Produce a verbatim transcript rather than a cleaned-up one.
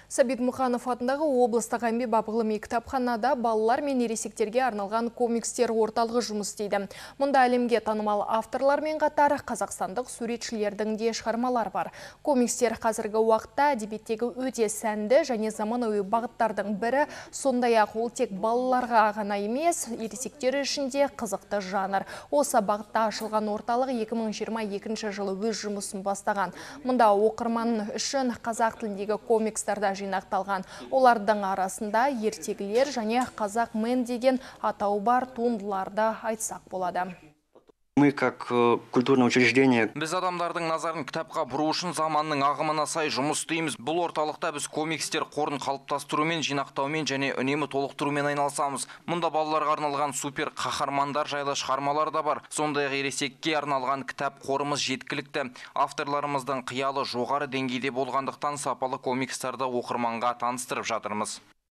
Сәбит Мұқанов атындағы облыстық әмбебап ғылыми кітапханада балалар мен ересектерге арналған комикстер орталығы жұмыс істейді. Мұнда әлемге танымал авторлармен қатар қазақстандық суретшілердің де шығармалар бар. Комикстер қазіргі уақытта әдебиеттегі өте сәнді және заманауи бағыттардың бірі, сондай-ақ ол тек балаларға ғана емес, ересектер үшін де қызықты жанр. Осы бағытта ашылған орталық екі мың жиырма екінші жылы өз жұмысын бастаған. Мұнда оқырман үшін қазақ тіліндегі комикстарда жинақталған. Олардың арасында ертегілер және қазақ мен деген атау бар туындыларды айтсақ болады. Мы как культурное учреждение. Біз адамдардың назарын кітапқа бұру үшін заманның ағымына сай жұмыс істейміз. Бұл орталықта біз комикстер қорын қалыптастырумен, жинақтаумен және үнемі толықтырумен айналысамыз. Мұнда балаларға арналған супер қаһармандар жайлы шығармалар да бар. Сондай-ақ ересекке арналған кітап қорымыз жеткілікті. Авторларымыздың қиялы жоғары деңгейде болғандықтан сапалы комикстарды оқырманға таныстырып жатырмыз.